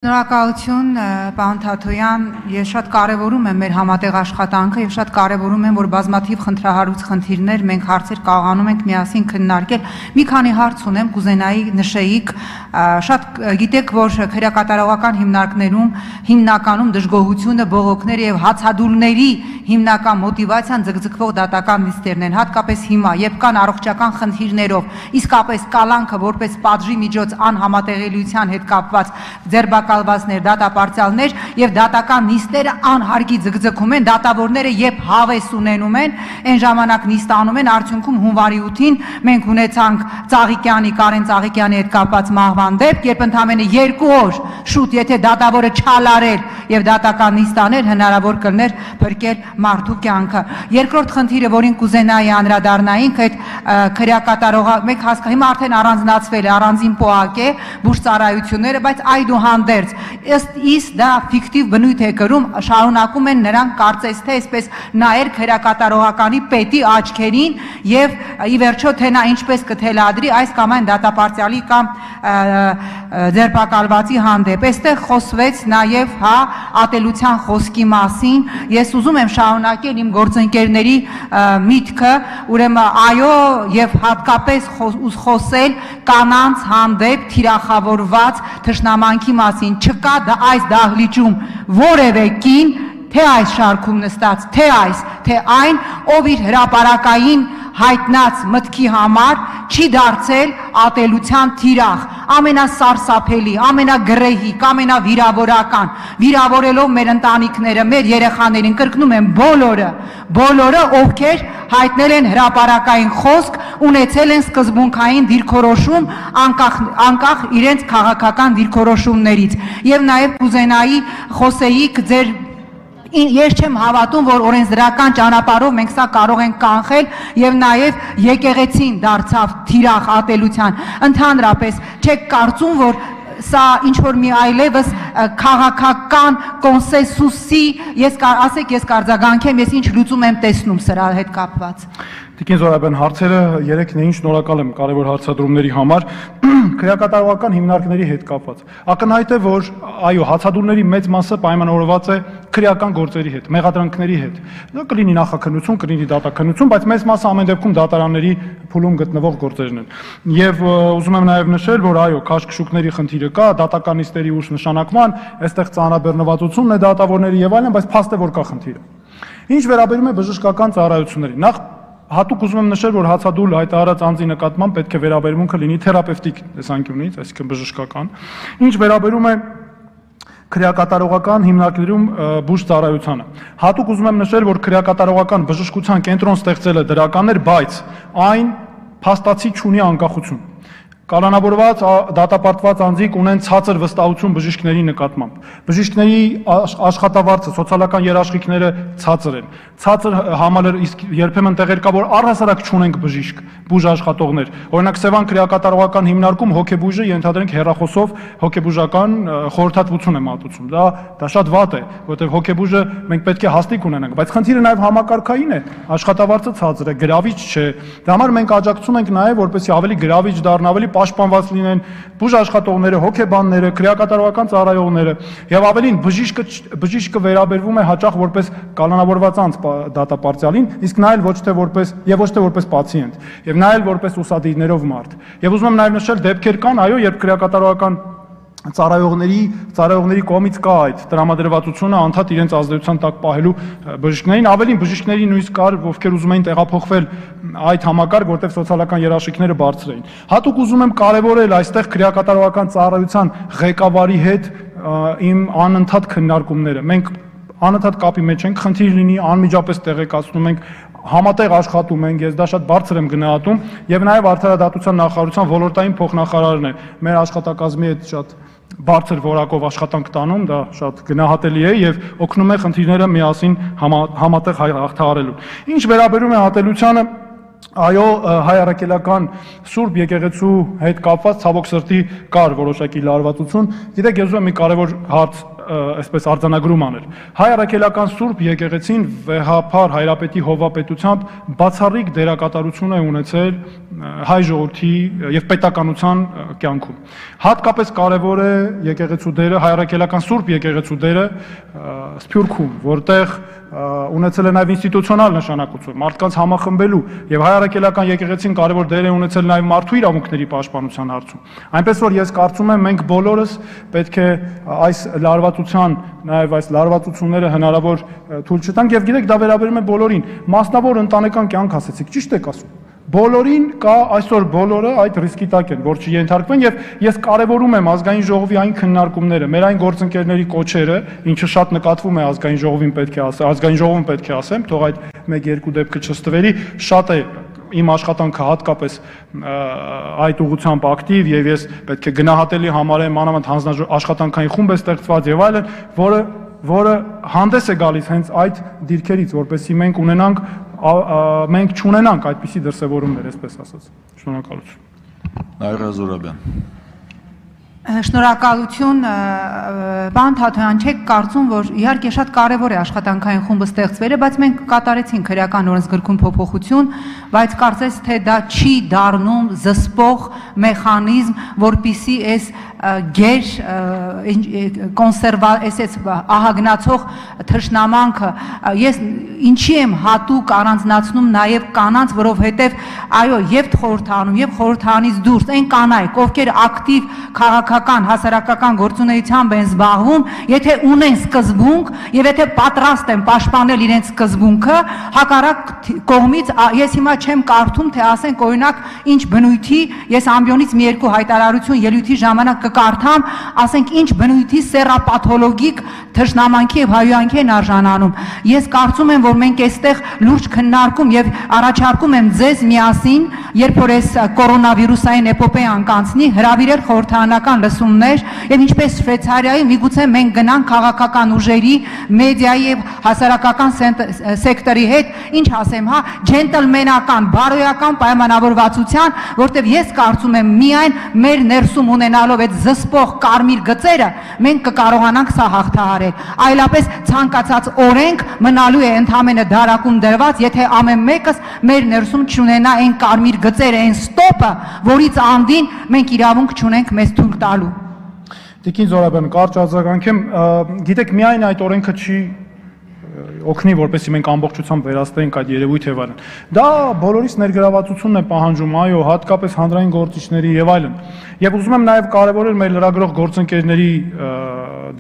Շնորհակալություն, պարոն Թաթոյան, ես շատ կարևորում եմ մեր համատեղ աշխատանքը եւ շատ կարևորում եմ, որ բազմաթիվ խնդրահարույց խնդիրներ մենք հարցեր կարողանում ենք միասին քննարկել։ Մի քանի հարց ունեմ, կուզենայի նշեիք, շատ գիտեք, որ քրեակատարողական հիմնարկներում հիմնականում դժգոհությունը, բողոքները եւ հացադուլների հիմնական մոտիվացիան ձգձգվող դատական նիստերն են, հատկապես հիմա, երբ կան առողջական խնդիրներով, իսկապես կալանքը որպես պատժի միջոց անհամատեղելիության հետ կապված ձերբակալվածներ, դատապարտյալներ եւ դատական նիստերը անհարգի ձգձգում են, դատավորները երբ հավես ունենում են, այն ժամանակ նիստ անում են, արդյունքում հունվարի 8-ին մենք ունեցանք Ծաղիկյանի, Կարեն Ծաղիկյանի հետ կապված մահվան դեպք, երբ ընդամենը 2 օր շուտ, եթե դատավորը չալարեր եւ դատական նիստ աներ, հնարավոր կլներ փրկել մարդու կյանքը։ Երկրորդ խնդիրը, որին կուզենայի անդրադառնայինք, այդ քրեակատարողը մեկ հասկա, հիմա արդեն առանձնացվել է, առանձին պոակ է բուժծառայությունները, բայց այդուհանդերձ ըստ իս դա ֆիկտիվ բնույթ է կրում, շարունակում են նրանք կարծես թե այսպես նայել քրեակատարողականի պետի աչքերին եւ ի վերջո թե նա ինչպես կթելադրի այս կամ այն դատապարտյալի կամ ձերբակալվածի հանդեպ։ Այստեղ խոսվեց նաեւ ատելության խոսքի մասին, ես ուզում եմ շարունակել իմ գործընկերների միտքը, ուրեմն այո եւ հատկապես խոսել կանանց հանդեպ թիրախավորված թշնամանքի մասին, չկա այս դահլիճում որևէ կին, թե այս շարքում նստած, թե այս, թե այն, ով իր հրապարակային հայտնած մտքի համար չի դարձել ատելության թիրախ, ամենասարսափելի, ամենագրեհիկ, ամենավիրավորական, վիրավորելով մեր ընտանիքները, մեր երեխաներին, կրկնում եմ բոլորը, ովքեր հայտնել են հրապարակային խոսք, ունեցել են սկզբունքային դիրքորոշում անկախ իրենց քաղաքական դիրքորոշումներից։ Եվ նաև կուզենայի խոսեիք ձեր Ես չեմ հավատում, որ օրենսդրական ճանապարհով մենք սա կարող ենք կանխել եւ նաեւ եկեղեցին դարձավ թիրախ ատելության։ Ընդհանրապես չեք կարծում, որ սա ինչ որ մի այլևս քաղաքական կոնսենսուսի, ասեք ես կարձագանքեմ, ես ինչ լուծում եմ տեսնում սրա հետ կապված։ Տիկին Զորաբյան, հարցերը 3-ն էին, շնորհակալ եմ կարևոր հարցադրումների համար, քրեակատարողական հիմնարկների հետ կապված։ Ակնհայտ է, որ այո, հացադուլների մեծ մասը պայմանավորված է քրեական գործերի հետ, մեղադրանքների հետ։ Դա կլինի նախաքննություն, կլինի դատաքննություն, բայց մեծ մասը ամեն դեպքում դատարանների փուլում գտնվող գործերն են։ Եվ ուզում եմ նաև նշել, որ այո, քաշքշուկների խնդիրը կա, դատական նիստերի ուշ նշանակման, այստեղ ծանրաբեռնվածությունն է դատավորների եւ այլն, բայց փաստ է, որ կա խնդիրը։ Ինչ վերաբերում է բժշկական ծառայություններին, նախ հատուկ ուզում եմ նշել, որ հացադուլ հայտարարած անձի նկատմամբ պետք է վերաբերմունքը լինի թերապևտիկ տեսանկյունից, այսինքն բժշկական։ Ինչ վերաբերում է քրեակատարողական հիմնարկներում բուժծառայությանը, հատուկ ուզում եմ նշել, որ քրեակատարողական բժշկության կենտրոն ստեղծելը դրական էր, բայց այն փաստացի չունի անկախություն։ Կալանավորված դատապարտված անձիկ ունեն ցածր վստահություն բժիշկների նկատմամբ։ Բժիշկների աշխատավարձը, սոցիալական երաշխիքները ցածր են։ Ցածր համալր, իսկ երբեմն տեղեր կա, որ առհասարակ չունենք բժիշկ, բուժաշխատողներ։ Օրինակ Սևան քրեակատարողական հիմնարկում հոգեբույժը ենթադրենք հեռախոսով հոգեբուժական խորհրդատվություն է մատուցում։ Դա շատ վատ է, որովհետև հոգեբույժը մենք պետք է հաստիկ ունենանք, բայց խնդիրը նաև համակարգային է, աշխատավարձը ցածր է, գրավիչ չէ։ Դա համար մենք աջակցում ենք նաև, որպեսզի ավելի գրավիչ դառնա, ավելի պաշտպանված լինեն բուժաշխատողները, հոգեբանները, քրեակատարողական ծառայողները եւ ավելին բժիշկը վերաբերվում է հաճախ որպես կալանավորված անձ դատապարտյալին, իսկ նա էլ ոչ թե որպես պացիենտ եւ նա էլ որպես ուսադիրներով մարդ։ Եվ ուզում եմ նաեւ նշել դեպքեր կան, այո, երբ քրեակատարողական ծառայողների կողմից կա այդ տրամադրվածությունը անդադ իրենց ազդեցության տակ պահելու բժիշկներին, ավելին բժիշկների նույնիսկ կար, ովքեր ուզում էին տեղափոխվել այդ համակարգ, որտեղ սոցիալական երաշխիքները բարձր էին։ Հատուկ ուզում եմ կարևորել այստեղ քրեակատարողական ծառայության ղեկավարի հետ իմ անընդհատ քննարկումները։ Մենք անընդհատ կապի մեջ ենք, խնդիր լինի, անմիջապես տեղեկացնում ենք, համատեղ աշխատում ենք, ես դա շատ բարձր եմ գնահատում եւ նաեւ արդարադատության նախարարության ոլորտային փոխնախարարն է մեր աշխատակազմի հետ շատ բարձր որակով աշխատանք տանում, դա շատ գնահատելի է եւ օգնում է խնդիրները միասին համատեղ հաղթահարելու։ Ինչ վերաբերում է ատելությանը, այո, հայ առաքելական Սուրբ եկեղեցու հետ կապված ցավոք սրտի կար որոշակի լարվածություն։ Գիտեք, ես ուզում եմ մի կարևոր հարց այսպես արձանագրում անել։ Հայ առաքելական Սուրբ եկեղեցին վեհափառ հայրապետի հովվապետությամբ բացառիկ դերակատարություն է ունեցել հայ ժողովրդի եւ պետականության կյանքում։ Հատկապես կարևոր է եկեղեցու դերը, հայ առաքելական Սուրբ եկեղեցու դերը Սփյուռքում, որտեղ ունեցել է նաև ինստիտուցիոնալ նշանակություն, մարդկանց համախմբելու եւ հայ առաքելական եկեղեցին կարևոր դեր է ունեցել նաև մարդու իրավունքների պաշտպանության հարցում։ Այնպես որ ես կարծում եմ մենք բոլորս պետք է այս լարվածության, նաև այս լարվածությունները հնարավոր թույլ չտանք եւ գիտեք դա վերաբերում է բոլորին, մասնավոր ընտանեկան կյանք ասեցիք, ճիշտ եք ասում։ Բոլորին կա այսօր բոլորը այդ ռիսկի տակ են, որ չենթարկվեն եւ ես կարեւորում եմ ազգային ժողովի այն քննարկումները, մեր այն գործընկերների կոչերը, ինչը շատ նկատվում է ազգային ժողովին պետք է ասեմ, ազգային ժողովում պետք է ասեմ, թող այդ 1-2 դեպքը չստվերի, շատ է իմ աշխատանքը հատկապես այդ ուղղությամբ ակտիվ եւ ես պետք է գնահատելի համարեմ մանավանդ հանձնաշխատանքային խումբ է ստեղծված եւ այլն, որը հանդես է գալիս հենց այդ դիրքերից, որպեսզի մենք չունենանք այդպիսի դրսևորումներ, այսպես ասած։ Շնորհակալություն։ Նաիրա Զուրաբյան։ Շնորհակալություն, պարոն Թաթոյան, չեք կարծում, որ իհարկե շատ կարևոր է աշխատանքային խումբը ստեղծվելը, բայց մենք կատարեցինք քրեական օրենսգրքում փոփոխություն, բայց կարծես թե դա չի դառնում զսպող մեխանիզմ, որպիսի այս գեր այս ահագնացող թշնամանքը ես ինչի եմ հատուկ առանձնացնում նաև կանանց, որովհետև այո, եւ խորհրդանում, եւ խորհրդանից դուրս այն կանայք, ովքեր ակտիվ քաղաքական, հասարակական գործունեությամբ են զբաղվում, եթե ունեն սկզբունք եւ եթե պատրաստ են պաշտպանել իրենց սկզբունքը, հակառակ կողմից ես հիմա չեմ կարդում, թե ասենք օրինակ ինչ բնույթի, ես ամբիոնից մի երկու հայտարարություն ելույթի ժամանակ կկարդամ, ասենք ինչ բնույթի սեռապաթոլոգիկ թշնամանքի եւ հայոյանքի են արժանանում։ Ես կարծում եմ, որ մենք այստեղ լուրջ քննարկում եւ առաջարկում եմ ձեզ միասին, երբ որ այս կորոնավիրուսային էպոպեան կանցնի, հրավիրել խորհրդարանական լսումներ եւ ինչպես Շվեյցարիայում միգուցե մենք գնանք քաղաքական ուժերի, մեդիայի եւ հասարակական սեկտորի հետ, ինչ ասեմ, հա, ջենտլմենական, բարոյական պայմանավորվածության, որտեղ ես կարծում եմ միայն մեր ներսում ունենալով այդ զսպող կարմիր գծերը մենք կկարողանանք սա հաղթահարել, այլապես ցանկացած օրենք մնալու է ընդհանրապես դարակում դրված, եթե ամեն մեկս մեր ներսում չունենա այն կարմիր գծերը, այն ստոպը, որից անդին մենք իրավունք չունենք մեզ թույլ տալու։ Տիկին Զորաբյան, կարճ արձագանքեմ, գիտեք, միայն այդ օրենքը չի օգնի, որպեսզի մենք ամբողջությամբ վերահսկենք այդ երևույթ եւ այլն։ Դա բոլորիս ներգրավվածությունն է պահանջում, այո, հատկապես հանրային գործիչների եւ այլն։ Եվ ուզում եմ նաեւ կարեւորել մեր լրագրող գործընկերների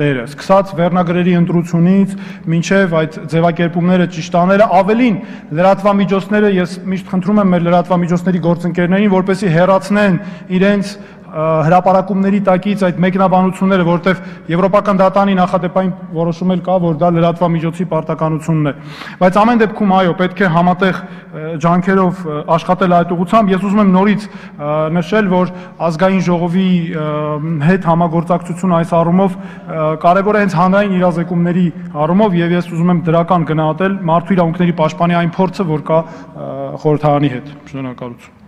դերը, սկսած վերնագրերի ընտրությունից մինչև այդ ձևակերպումները ճիշտ անելը, ավելին լրատվամիջոցները, ես միշտ խնդրում եմ մեր լրատվամիջոցների գործընկերներին, որպեսզի հեռացնեն իրենց հրապարակումների տակից այդ մեկնաբանությունները, որտեղ Եվրոպական դատանի նախադեպային որոշում էլ կա, որ դա լրատվամիջոցի պարտականությունն է։ Բայց ամեն դեպքում այո, պետք է համատեղ ջանքերով աշխատել այդ ուղղությամբ։ Ես ուզում եմ նորից նշել, որ ազգային ժողովի հետ համագործակցություն այս առումով կարևոր է հենց հանրային իրազեկումների առումով եւ ես ուզում եմ դրական գնահատել մարդու իրավունքների պաշտպանի այն փորձը, որ կա խորհրդարանի հետ։ Շնորհակալություն։